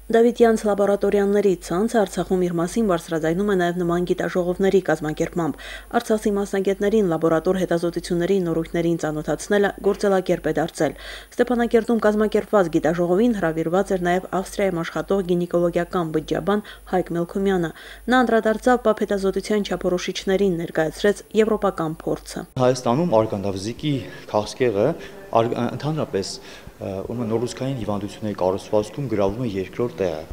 Դավիթյանց լաբորատորիաների ցանցը Արցախում իր մասին բարձրաձայնում է նաև նման գիտաժողովների կազմակերպմամբ։ Արցախի մասնագետներին լաբորատոր հետազոտությունների նորույթներին ծանոթացնելը գործելակերպ է դարձել։ Ստեփանակերտում կազմակերպված գիտաժողովին հրավիրված էր նաև Ավստրիայում աշխատող գինեկոլոգիական բջջաբան Հայկ Մելքումյանը։ Նա անդրադարձավ ՊԱՊ հետազոտության չափորոշիչներին, ներկայացրեց եվրոպական փորձը։ Հայաստանում արգանդավզիկի քաղցկեղը ընդհանրապես նորուցքային հիվանդությունների կառուցվածքում գրավում է երկրորդ տեղը։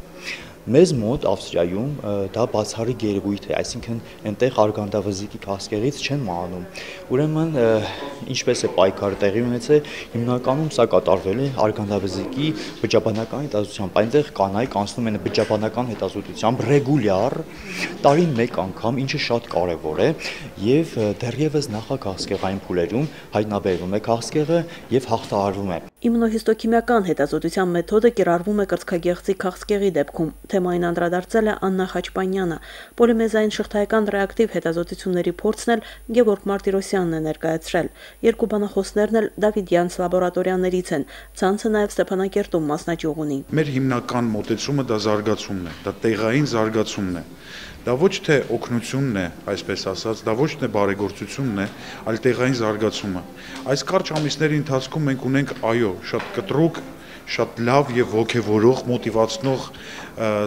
Մեզ մոտ Ավստրիայում դա բացառիկ երևույթ է, այսինքն այնտեղ արգանդավզիկի քաղցկեղից չեն մահանում։ Ուրեմն ինչպես է պայքարը տեղի ունեցել, հիմնականում սա կատարվել է արգանդավզիկի բջջաբանական հետազոտությամբ։ Այնտեղ կանայք անցնում են բջջաբանական հետազոտությամբ ռեգուլյար տարին մեկ անգամ, ինչը շատ կարևոր է, եւ դեռևս նախաքաղցկեղային փուլերում հայտնաբերվում է քաղցկեղը եւ հաղթահարվում է։ Իմունոհիստոքիմիական հետազոտության մեթոդը կիրառվում է կրծքագեղձի քաղցկեղի դեպքում։ Թեմային անդրադարձել է Աննա Խաչպանյանը։ Պոլիմեզային շղթայական ռեակտիվ հետազոտությունների փորձն էլ Գևորգ Մարտիրոսյանն է ներկայացրել։ Երկու բանախոսներն էլ Դավիթյանց լաբորատորիաներից են։ Ցանցը նաև Ստեփանակերտում մասնաճյուղ ունի։ Մեր հիմնական մոտեցումը դա զարգացումն է, դա տեղային զարգացումն է։ Դա ոչ թե օգնությունն է, այսպես ասած, դա ոչ թե բարեգործությունն է, այլ տեղային զարգացումը։ Այս կարճ ամիսների ընթացքում մենք ունենք, այո, շատ կտրուկ, շատ լավ եւ ոգևորող, մոտիվացնող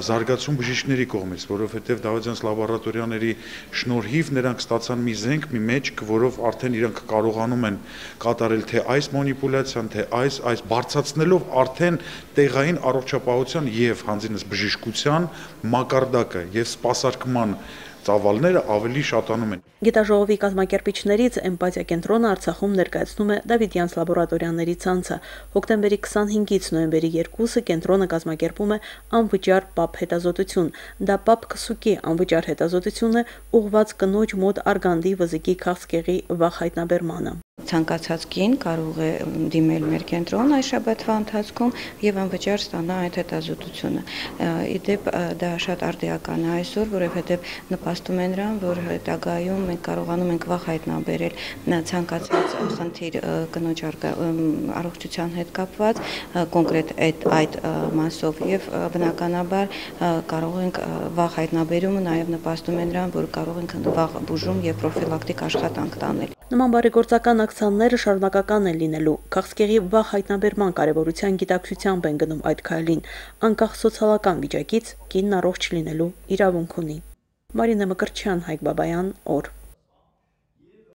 զարգացում բժիշկների կողմից, որովհետեւ Դավիթյանց լաբորատորիաների շնորհիվ նրանք ստացան մի զենք, մի մեջք, որով արդեն իրենք կարողանում են կատարել թե այս մանիպուլյացիան, թե այս բարձրացնելով արդեն տեղային առողջապահության եւ հանձինս բժշկության մակարդակը եւ սպասարկման ծավալները ավելի շատանում են։ Գիտաժողովի կազմակերպիչներից Էմպաթիա կենտրոնը Արցախում ներկայացնում է Դավիթյանց լաբորատորիաների ցանցը։ Հոկտեմբերի 25-ից նոյեմբերի 2-ը կենտրոնը կազմակերպում է անվճար ՊԱՊ հետազոտություն։ Դա ՊԱՊ քսուկի անվճար հետազոտություն է ուղղված կնոջ մոտ արգանդի վզիկի քաղցկեղի վաղ հայտնաբերմանը։ Ցանկացած կին կարող է դիմել մեր կենտրոն այս շաբաթվա ընթացքում եւ անվճար ստանա այդ հետազոտությունը։ Իդեպ դա շատ արդիական է այսօր, որովհետեւ նպաստում է նրան, որ հետագայում մենք կարողանում ենք վաղ հայտնաբերել ցանկացած խնդիր կնոջ առողջության հետ կապված, կոնկրետ այդ մասով եւ բնականաբար կարող ենք վաղ հայտնաբերումը նաեւ նպաստում է նրան, որ կարող ենք վաղ բուժում եւ պրոֆիլակտիկ աշխատանք տանել։ Նման բարեգործական ակցիաները շարունակական են լինելու։ Քաղցկեղի վաղ հայտնաբերման կարևորության գիտակցությամբ են գնում այդ քայլին։ Անկախ սոցիալական վիճակից կինն առողջ լինելու իրավունք ունի։ Մարինե Մկրտչյան, Հայկ Բաբայան, օր։